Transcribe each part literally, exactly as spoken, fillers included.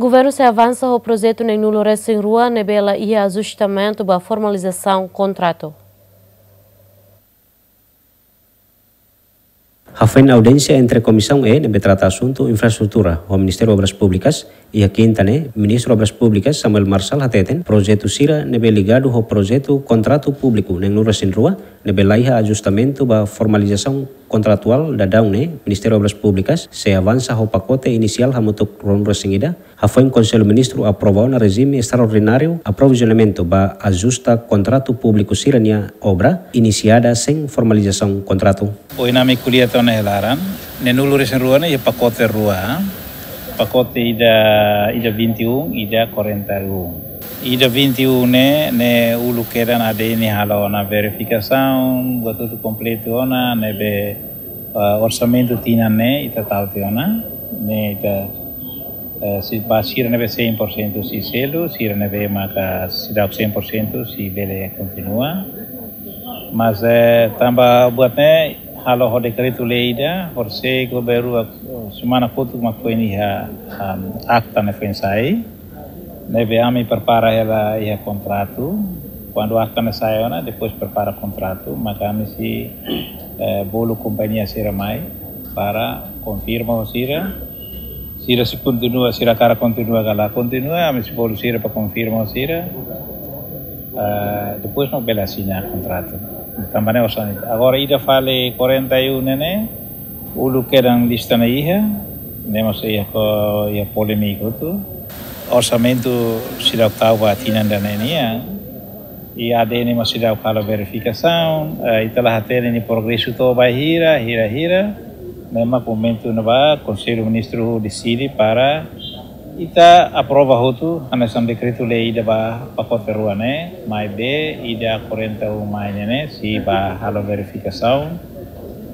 Governu sei avansa ho projetu neen-nulu resin rua ne'ebé la iha ajustamentu ba formalizasaun kontratu. Hafoin audiénsia entre Komisaun E ne'ebé trata asuntu infraestrutura ho Ministériu Obras Públikas, iha kinta ne'e, Ministru Obras Públikas, Samuel Marçal, hateten projetu sira ne'ebé ligadu ho projetu kontratu públiku neen-nulu resin rua ne'ebé la iha ajustamentu ba formalizasaun kontratuál daudaun ne'e, Ministériu Obras Públikas sei avansa ho pakote inisiál hamutuk ruanulu resin ida, hafoin Konsellu Ministru aprova ona rejime estraordináriu aprovizionamentu ba ajusta kontratu públiku sira-nia obra inisiada sein formalizasaun kontratu. Ohin ami ko'alia tiha ona iha laran, neen-nulu resin rua ne'e iha pakote rua, pakote ida, ida vinte e um, ida quarenta e um. Ida vinte e um ne'e, ne'e uluk kedan A D N halo ona verifikasaun, buat hotu kompletu ona, ne'ebé, ah, orsamentu tinan ne'e ita tau tiha ona, ne'e ita, eh, sei ba sira ne'ebé cem por cento sei selu, sira ne'ebé maka seidauk cem por cento sei bele kontinua. Mas, eh, tanba buat ne'e halo ho dekretu-lei ida, horisehik ho baru, eh, semana kotuk mak foin iha, ah, akta ne'e foin sai. Ne'ebé ami prepara hela iha kontratu. Kuandu akta ne'e sai ona, depois prepara kontratu, maka ami sei, eh, bolu kompañia sira mai para konfirma ho sira. Sira sei kontinua, sira hakarak kontinua ka la kontinua, ami sei bolu sira para konfirma ho sira. Eh, depois mak bele asina kontratu. Tanba ne'e osan. Agora ida fali quarenta e um ne'e ne'e, uluk kedan lista ne'e iha, ne'e mós iha ko, iha polémika hotu. Orsamentu seidauk tau ba tinan ida-ne'e nian. I A D N mós seidauk halo verifikasaun, eh, ita la hatene nia progresu to'o ba hira, hira, hira. Ne'e mak momentu ne'ebá Konsellu Ministru deside para ita aprova hotu hanesan dekretu-lei ida ba pakote rua ne'e, maibé ida quarenta e um mai ne'e ne'e sei ba halo verifikasaun.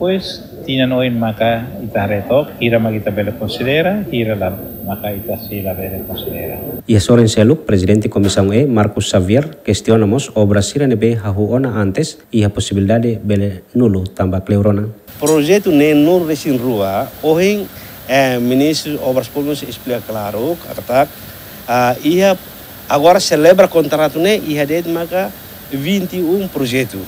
Depois, tinan oin maka ita haree took, hira mak ita bele konsidera, hira la maka ita sei la bele konsidera. Iha sorin seluk, Prezidente Komisaun E, Marcos Xavier, kestiona mós obra sira ne'ebé hahú ona antes, iha posibilidade bele nulu tanba kleur ona. Projetu neen-nulu resin rua, ohin, eh, Ministru Obras Públikas esplika klaru, katak, ah, iha agora selebra kontratu ne'e, iha de'it maka vinte e um projetu.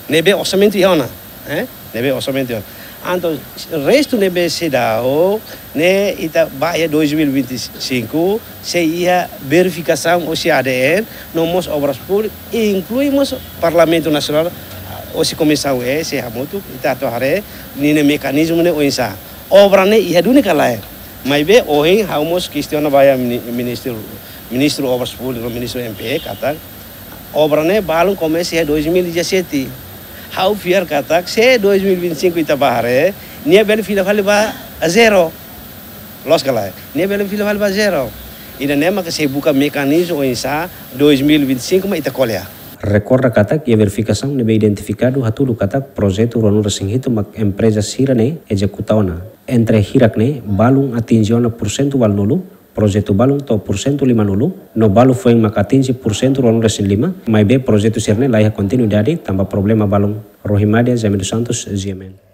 Ne'ebé orsamentu iha ona, eh? Ne'ebé orsamentu iha ona. Entaun, restu ne'ebé seidauk, ne'e ita ba iha dois mil e vinte e cinco, sei iha verifikasaun husi A D N, no mós Obras Públikas, inklui mós Parlamentu Nasionál, husi Komisaun E, sei hamutuk, ita atu haree, ninia mekanizmu ne'e oinsá. Obra ne'e iha duni ka lae. Maibé, ohin, ha'u mós kestiona ba iha mini-, Ministru, Ministru Obras Públikas, Ministru M P E, katak, obra ne'e balun komesa iha dois mil e dezassete. Ha'u fiar katak, se dois mil e vinte e cinco ita ba haree, nia bele fila fali ba zero. Loos ka lae? Nia bele fila fali ba zero. Ida-ne'e maka sei buka mekanizmu oinsá dois mil e vinte e cinco mak ita ko'alia. Rekorda katak, iha verifikasaun ne'ebé identifikadu hatudu katak projetu ruanulu resin hitu mak empreza sira-ne'e ezekuta ona. Entre hirak ne'e, balun atinje ona porsentu ualunulu, projetu balun to'o porsentu limanulu, no balu foin mak atinje porsentu ruanulu resin lima, maibé projetu sira-ne'e la iha kontinuidade tanba problema balun. Rohimadia Jaime dos Santos, G M N.